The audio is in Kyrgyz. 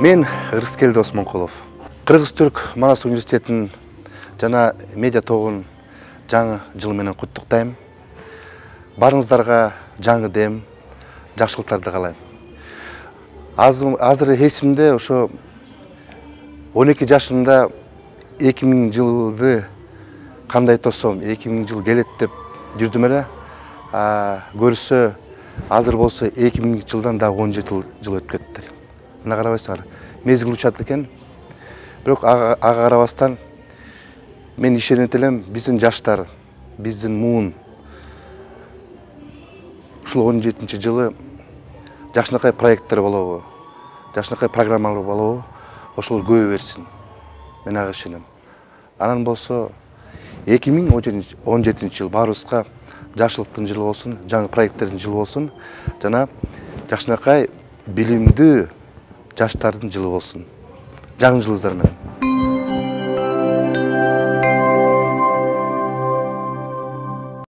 Мен Рыскелди Осмонкулов. Кыргыз-Түрк Манас университетинин жана медиа тобунун жаңы жыл менен куттуктайм. Барыңыздарга жаңы дем, жакшылыктарды каалайм. Азыр эсимде ошо 12 жашымда 2000 жылды кандай тосом, 2000 жыл келет деп жүрдүм эле. Көрсө азыр болсо 2000 жылдан да 17 жыл өтүп кетти. Мына карабайсыңар, мезгил учат экен. Бирок ага карабастан мен ишенет элем, биздин жаштар, биздин муун ушул 17-жылы жакшынакай проекттер болобу, жакшынакай программалар болобу, ошол көбөй берсин. Мен ага ишенем. Анан болсо 2017 жыл баарыбызга жакшылыктын жылы болсун, жаңы проекттердин жылы болсун, жана жакшынакай билимдүү жаштардын жылы болсун. Жаңы жылыңыздар менен.